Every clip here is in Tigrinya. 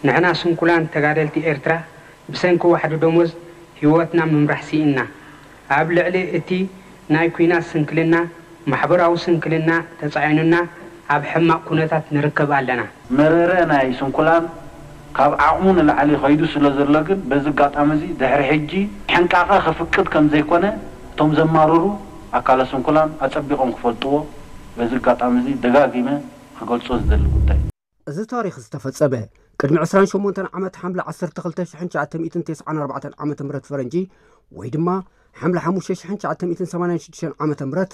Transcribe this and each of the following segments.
ንሕና ስንኩላን ተጋደልቲ ኤርትራ ብሰንኪ ዋሕዲ ደሞዝ ህይወትና ምምራሕ ስኢንና። ኣብ ልዕሊ እቲ ናይ ኲናት ስንክልና፣ ማሕበራዊ ስንክልና ተጻዒኑና ኣብ ሕማቕ ኩነታት ንርከብ ኣለና። መረረ ናይ ስንኩላን ካብ ዓቕሙ ንላዕሊ ከይዱ ስለ ዘሎ ግን በዚ ኣጋጣሚ እዚ ድሕሪ ሕጂ ሕንቃቐ ከፍቅድ ከም ዘይኮነ እቶም ዘማርሩ ኣካለ ስንኩላን ኣጸቢቖም ክፈልጥዎ በዚ ኣጋጣሚ እዚ ደጋጊመ ክገልጾ ዝደሊ ጉዳይ። እዚ ታሪኽ ዝተፈጸመ ቅድሚ ዕስራን ሸሞንተን ዓመት ሓምለ ዓሰርተ ክልተ ሽሕን ትሽዓተ ሚእትን ተስዓን ኣርባዕተን ዓመተ ምህረት ፈረንጂ ወይ ድማ ሓምለ ሓሙሽተ ሽሕን ትሽዓተ ሚእትን ሰማንያን ሽዱሽተን ዓመተ ምህረት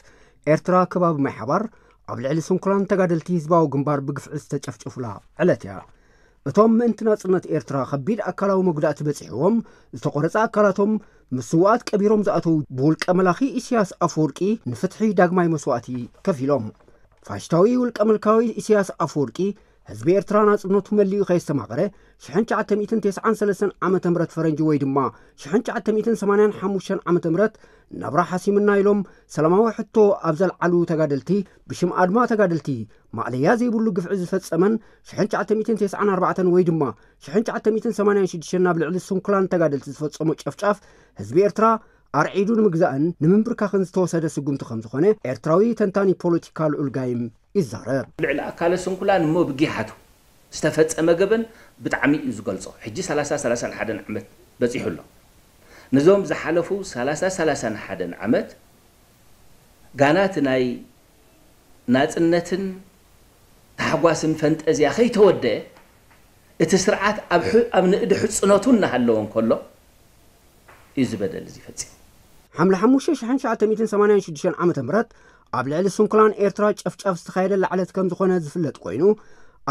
ኤርትራ ከባቢ ማይ ሓባር ኣብ ልዕሊ ስንኩላን ተጋደልቲ ህዝባዊ ግንባር ብግፍዒ ዝተጨፍጨፉላ ዕለት እያ። እቶም ምእንቲ ናጽነት ኤርትራ ከቢድ ኣካላዊ መጉዳእቲ በጺሕዎም ዝተቖረጸ ኣካላቶም ምስ ስውኣት ቀቢሮም ዝኣተዉ ብውልቀ መላኺ ኢሳያስ ኣፈወርቂ ንፍትሒ ዳግማይ መስዋእቲ ከፊሎም። ፋሽስታዊ ውልቀ መላኺ ኢሳያስ ኣፈወርቂ ህዝቢ ኤርትራ ናጽነቱ መሊኡ ከየስተማቐረ ሽሕን ትሽዓተ ሚእትን ተስዓን ሰለስተን ዓመተ ምህረት ፈረንጂ ወይ ድማ ሽሕን ትሽዓተ ሚእትን ሰማንያን ሓሙሽተን ዓመተ ምህረት ናብራ ሓሲምና ኢሎም ሰላማዊ ሕቶ ኣብ ዘልዓሉ ተጋደልቲ ብሽም ኣድማ ተጋደልቲ ማእለያ ዘይብሉ ግፍዒ ዝፈጸመን ሽሕን ትሽዓተ ሚእትን ተስዓን ኣርባዕተን ወይ ድማ ሽሕን ትሽዓተ ሚእትን ሰማንያን ሽዱሽተን ናብ ልዕሊ ስንኩላን ተጋደልቲ ዝፈጸሞ ጨፍጫፍ ህዝቢ ኤርትራ ኣርዒዱ ንምግዛእን ንምንብርካኽን ዝተወሰደ ስጉምቲ ከም ዝኾነ ኤርትራዊ ተንታኒ ፖለቲካ ልዑል ጋይም ይዛረብ። ልዕሊ ኣካለ ስንኩላን እሞ ብጊሓቱ ዝተፈጸመ ገበን ብጣዕሚ እዩ ዝገልጾ። ሕጂ ሰላሳ ሰላሳን ሓደን ዓመት በጺሑ ኣሎ። ነዞም ዝሓለፉ ሰላሳ ሰላሳን ሓደን ዓመት ጋና እቲ ናይ ናጽነትን ታሕጓስን ፈንጠዝያ ከይተወደአ እቲ ስርዓት ኣብ ሕ- ኣብ ንእዲ ሕጽነቱ እናሃለወ እንከሎ እዩ እዚ በደል እዚ ፈጺሙ። ሓምለ ሓሙሽተ ሽሕን ትሽዓተ ሚእትን ሰማንያን ሽዱሽተን ዓመተ ምህረት ኣብ ልዕሊ ስንኩላን ኤርትራ ጨፍጫፍ ዝተኻየደላ ዕለት ከም ዝኾነ ዝፍለጥ ኮይኑ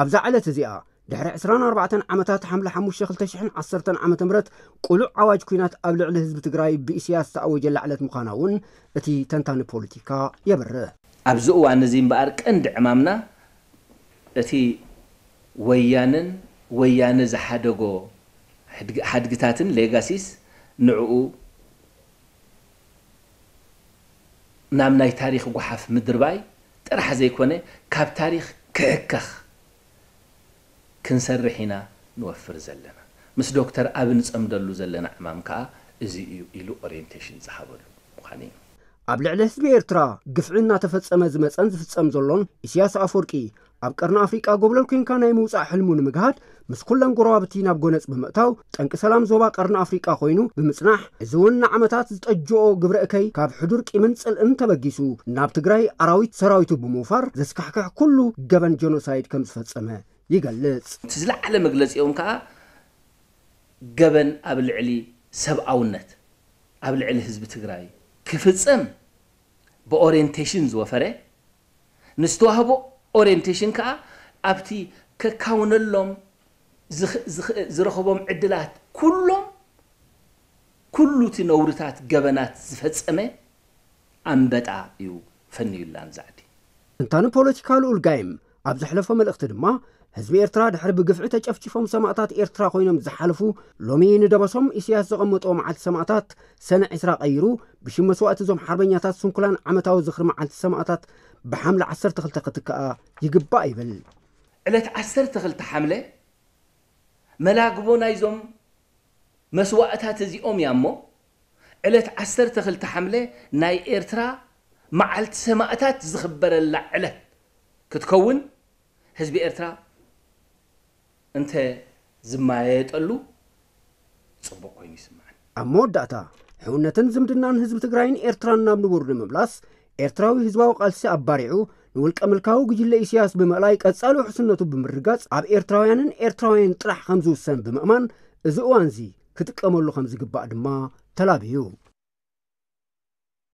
ኣብዛ ዕለት እዚኣ ድሕሪ ዕስራን ኣርባዕተን ዓመታት ሓምለ ሓሙሽተ ክልተ ሽሕን ዓሰርተን ዓመተ ምህረት ቅሉዕ ኣዋጅ ኲናት ኣብ ልዕሊ ህዝቢ ትግራይ ብኢሳያስ ዝተኣወጀላ ዕለት ምዃና እውን እቲ ተንታኒ ፖለቲካ የብርህ። ኣብዚ እዋን እዚ እምበኣር ቀንዲ ዕማምና እቲ ወያነን ወያነ ዝሓደጎ ሕድግ- ሓድግታትን ሌጋሲስ ንዕኡ ናብ ናይ ታሪኽ ጓሓፍ ምድርባይ ጥራሕ ዘይኮነ ካብ ታሪኽ ክሕከኽ ክንሰርሕ ኢና ንወፍር ዘለና። ምስ ዶክተር ኣብ ንጸምደሉ ዘለና ዕማም ከኣ እዚ እዩ ኢሉ ኦሪየንቴሽን ዝሃበሉ ምዃኑ እዩ። ኣብ ልዕሊ ህዝቢ ኤርትራ ግፍዒ እናተፈጸመ ዝመጸን ዝፍጸም ዘሎን ኢሳያስ ኣፈወርቂ ኣብ ቀርኒ ኣፍሪቃ ጎብለል ኮንካ ናይ ምውጻእ ሕልሙ ንምግሃድ ምስ ኩለን ጎረባብቲ ናብ ጎነጽ ብምእታው ጠንቂ ሰላም ዞባ ቀርኒ ኣፍሪቃ ኮይኑ ብምጽናሕ እዚ እውን ንዓመታት ዝጠጅኦ ግብረ እከይ ካብ ሕዱር ቂምን ጽልእን ተበጊሱ ናብ ትግራይ ኣራዊት ሰራዊቱ ብምውፋር ዘስካሕክሕ ኩሉ ገበን ጀኖሳይድ ከም ዝፈጸመ ይገልጽ። እቲ ዝለዓለ መግለጺኦም ከኣ ገበን ኣብ ልዕሊ ሰብኣውነት ኣብ ልዕሊ ህዝቢ ትግራይ ክፍጸም ብኦሪየንቴሽን ዝወፈረ ንዝተዋህቦ ኦሪየንቴሽን ከኣ ኣብቲ ከካውነሎም ዝኽ- ዝኽ- ዝረኸቦም ዕድላት ኩሎም ኩሉ እቲ ነውርታት ገበናት ዝፈጸመ ኣንበጣ እዩ ፈንዩላ ንዛ ዓዲ። ተንታኒ ፖለቲካ ልኡል ጋይም ኣብ ዘሕለፎ መልእኽቲ ድማ ህዝቢ ኤርትራ ድሕሪ ብግፍዒ ተጨፍጭፎም ሰማእታት ኤርትራ ኮይኖም ዝሓለፉ ሎሚ ንደበሶም ኢሳያስ ዘቐመጦ መዓልቲ ሰማእታት ሰነ ዕስራ ቀይሩ ብሽም መስዋእቲ እዞም ሓርበኛታት ስንኩላን ዓመታዊ ዝኽሪ መዓልቲ ሰማእታት ብሓምለ ዓሰርተ ክልተ ክትከኣ ይግባእ ይብል። ዕለት ዓሰርተ ክልተ ሓምለ መላግቦ ናይዞም መስዋእታት እዚኦም እያ እሞ ዕለት ዓሰርተ ክልተ ሓምለ ናይ ኤርትራ መዓልቲ ሰማእታት ዝኽበረላ ዕለት ክትከውን ህዝቢ ኤርትራ እንተ ዝማየጠሉ ጽቡቕ ኮይኑ ይስምዓኒ። ኣብ መወዳእታ ሕውነትን ዝምድናን ህዝቢ ትግራይን ኤርትራን ናብ ንቡር ንምምላስ ኤርትራዊ ህዝባዊ ቃልሲ ኣባሪዑ ንውልቀ ምልካዊ ጉጅለ ኢሳያስ ብምእላይ ቀጻሊ ውሕስነቱ ብምርጋጽ ኣብ ኤርትራውያንን ኤርትራውያን ጥራሕ ከም ዝውሰን ብምእማን እዚ እዋንዚ ክጥቀመሉ ከም ዝግባእ ድማ ተላብዩ።